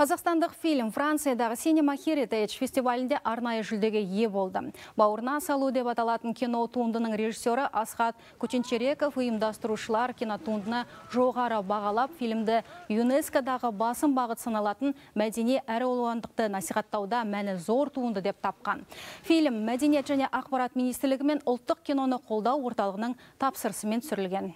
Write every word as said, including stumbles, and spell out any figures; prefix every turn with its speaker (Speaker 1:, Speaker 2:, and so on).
Speaker 1: Қазақстандық фильм Франциядағы Cinema Heritage фестивалінде арнайы жүлдеге ие болды. Бауырына салу деп аталатын кино туындының режиссері Асхат Көтенчереков ұйымдастырушылар кинотуындыны жоғары бағалап, фильмді ЮНЕСКО-дағы басым бағыт саналатын мәдени әралуандықты насихаттауда мәні зор туынды деп тапқан. Фильм Мәдениет және ақпарат министрлігі мен ұлттық киноны қолдау орталығының тапсырысымен түсірілген.